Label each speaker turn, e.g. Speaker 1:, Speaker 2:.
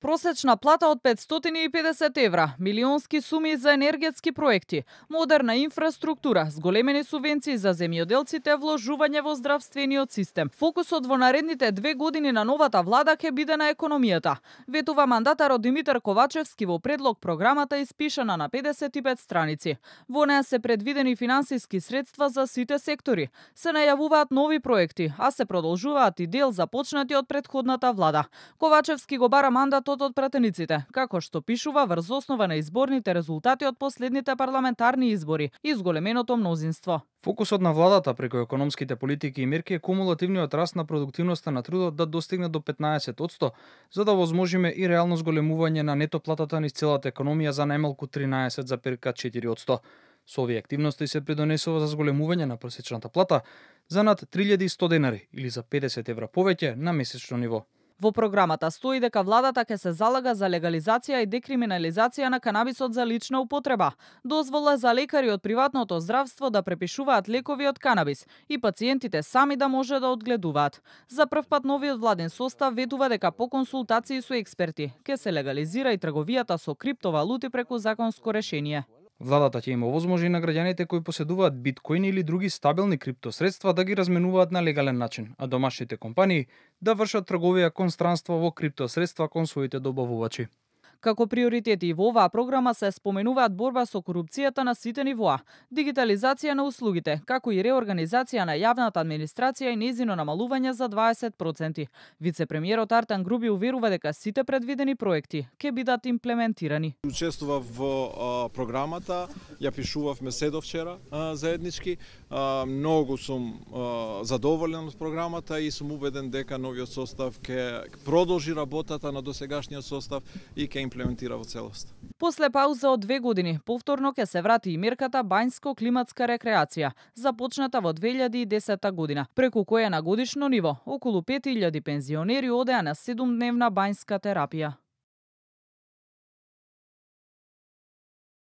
Speaker 1: Просечна плата од 550 евра, милионски суми за енергетски проекти, модерна инфраструктура, зголемени субвенции за земјоделците, вложување во здравствениот систем. Фокусот во наредните 2 години на новата влада ќе биде на економијата. Ветува мандатарот Димитар Ковачевски во предлог програмата испишана на 55 страници. Во неа се предвидени финансиски средства за сите сектори. Се најавуваат нови проекти, а се продолжуваат и дел започнати од претходната влада. Ковачевски го бара мандатот од пратениците, како што пишува врз основа на изборните резултати од последните парламентарни избори и зголеменото мнозинство.
Speaker 2: Фокусот на владата преку економските политики и мерки е кумулативниот раст на продуктивноста на трудот да достигне до 15%, за да возможиме и реално зголемување на нето платата низ целата економија за најмалку 13,4%. Со овие активности се придонесува за зголемување на просечната плата за над 3100 денари или за 50 евра повеќе на месечно ниво.
Speaker 1: Во програмата стои дека владата ќе се залага за легализација и декриминализација на канабисот за лична употреба, дозвола за лекари од приватното здравство да препишуваат лекови од канабис и пациентите сами да може да одгледуваат. За прв пат новиот владен состав ветува дека по консултации со експерти ќе се легализира и трговијата со криптовалути преку законско решение.
Speaker 2: Владата ќе има овозможи на граѓаните кои поседуваат биткоини или други стабилни криптосредства да ги разменуваат на легален начин, а домашните компании да вршат трговија кон странство во криптосредства кон своите добавувачи.
Speaker 1: Како приоритети во оваа програма се споменуваат борба со корупцијата на сите нивоа, дигитализација на услугите, како и реорганизација на јавната администрација и нејзино намалување за 20%. Вице-премиерот Артан Груби уверува дека сите предвидени проекти ќе бидат имплементирани.
Speaker 3: Учествував во програмата, ја пишувавме седовчера заеднички. Многу сум задоволен од програмата и сум убеден дека новиот состав ќе продолжи работата на досегашниот состав и ќе имплементира во целост.
Speaker 1: После пауза од 2 години, повторно ќе се врати и мерката Бањско-климатска рекреација, започната во 2010 година, преку која на годишно ниво околу 5000 пензионери одеа на 7-дневна бањска терапија.